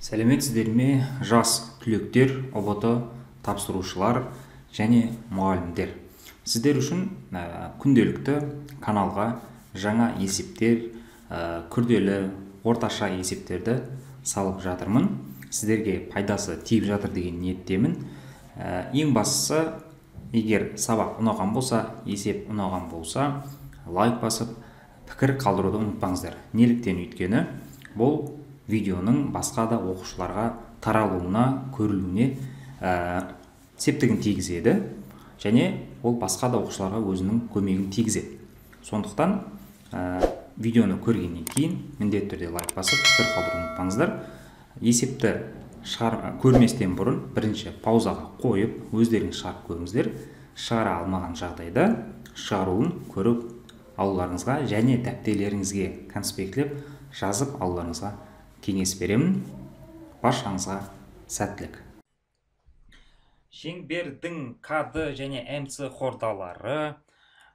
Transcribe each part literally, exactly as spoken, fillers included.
Сәлеметсіздер ме, жас түлектер, ұбт тапсырушылар және мұғалімдер. Сіздер үшін ә, күнделікті каналға жаңа есептер, ә, күрделі, орташа есептерді салып жатырмын. Сіздерге пайдасы тиіп жатыр деген ниеттемін. Ә, ең бастысы, егер сабақ ұнаған болса, есеп ұнаған болса, лайк басып, пікір қалдыруды ұмытпаңыздар. Неліктен өйткені бұл видеоның басқа да оқушыларға таралуына, көрілуіне ә, септігін тигізеді, және ол басқа да оқушыларға өзінің көмегін тигізеді. Сондықтан ә, видеоны көргеннен кейін міндетті түрде лайк басып, пікір қалдыруды ұмытпаңыздар. Есепті шығар, көрместен бұрын бірінші паузаға қойып, өздеріңіз шығарып көріңіздер. Шығара алмаған жағдайда шығаруын көріп алуларыңызға және дәптерлеріңізге конспектлеп жазып алуларыңызға кеңес беремін. Баршаңызға сәттілік. Шеңбердің КД және МЦ хордалары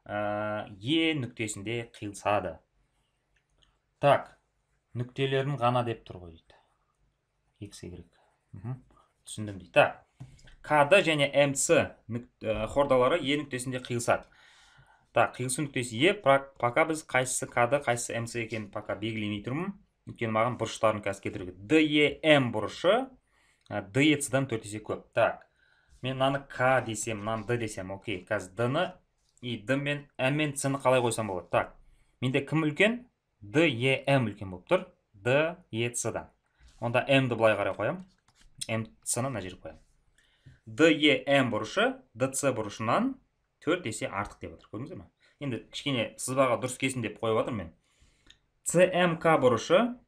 ә, Е нүктесінде қиылысады. Так, нүктелерін ғана деп тұр ғой дейді. X, Y. Түсіндім дейді. Так, КД және МЦ хордалары Е нүктесінде қиылысады. Так, қиылысу нүктесі Е, пока біз қайсысы КД, қайсысы МЦ екенін пока белгілемей тұрмын. Өйткені маған бұрыштарын қазір кетіруге. ДЕМ бұрышы ДЕЦ-дан төрт есе көп. Так, мен мынаны К десем, мынаны Д десем, окей. Қазір Д-ны и Д мен М мен С-ны қалай қойсам болады? Так, менде кім үлкен? ДЕМ үлкен болып тұр. ДЕЦ-дан. Онда М-ді былай қарай қоям. МЦ-ны мына жерге қоям. ДЕМ бұрышы ДЦ бұрышынан төрт есе артық деп отыр. Көрдіңіздер ме? Енді кішкене сызбаға дұрыс келсін деп қойып отыр мен. ЦМК бұрышы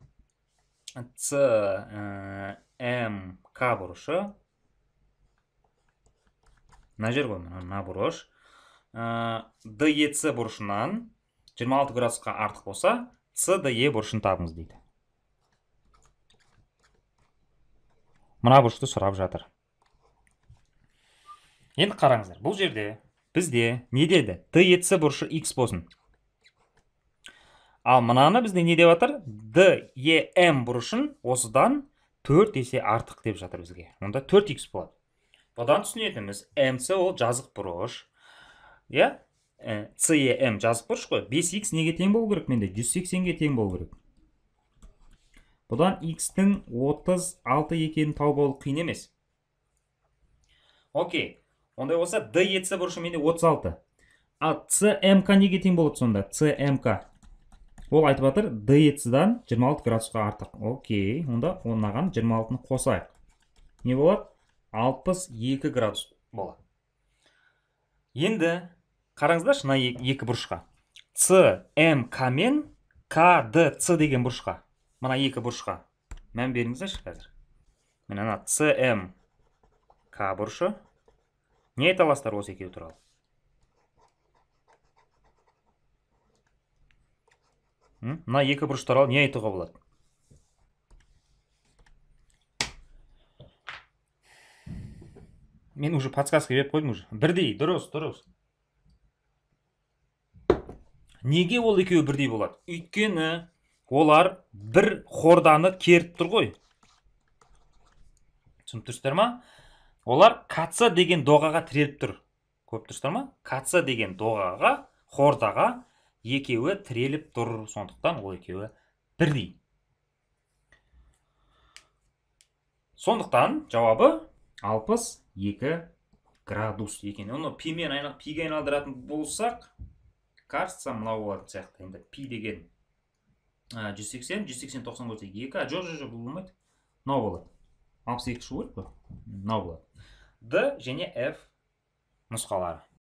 ЦМК бұрышы мына жер ғой, мына бұрыш ДЕЦ бұрышынан жиырма алты градусқа артық болса, СДЕ бұрышын табыңыз дейді. Мына бұрышты сұрап жатыр. Енді қараңыздар, бұл жерде бізде не деді? ДЕЦ бұрышы X болсын. Ал мынаны бізде не деп жатыр? ДЕМ бұрышын осыдан төрт есе артық деп жатыр бізге. Онда төрт икс болады. Бұдан түсінетініміз, МЦ ол жазық бұрыш. Я? СЕМ жазық бұрыш қой. бес икс неге тең болу керек менде? жүз сексенге тең болу керек. Бұдан X-тің отыз алты екенін тауып алу қиын емес. Окей. Ондай болса ДЕЦ бұрышы менде отыз алты. А ЦМК неге тең болады сонда? ЦМК. Ол айтып жатыр ДЕЦ-дан жиырма алты градусқа артық. Окей, онда онаған жиырма алтыны қосайық. Не болады? алпыс екі градус болады. Енді қараңыздаршы мына екі бұрышқа. ЦМК мен КДЦ деген бұрышқа. Мына екі бұрышқа. Мән беріңіздерші қазір. Мен ана ЦМК бұрышы. Не айта аласыздар осы екеуі туралы? Мына екі бұрыш туралы не айтуға болады? Мен уже подсказка беріп қойдым уже. Бірдей, дұрыс, дұрыс. Неге ол екеуі бірдей болады? Өйткені олар бір хорданы керіп тұр ғой. Түсініп тұрсыздар ма? Олар КЦ деген доғаға тіреліп тұр. Көріп тұрсыздар ма? КЦ деген доғаға, хордаға екеуі тіреліп тұр. Сондықтан ол екеуі бірдей. Сондықтан жауабы алпыс екі градус екен. Оны пимен айнақ пиге айналдыратын болсақ, кажется, мынау болатын сияқты. Енді пи деген жүз сексен, жүз сексен тоқсан болса екі, а жоқ, жоқ, бұл болмайды. Мынау болады. алпыс екі шығу керек қой. Мынау болады. Д және F нұсқалары.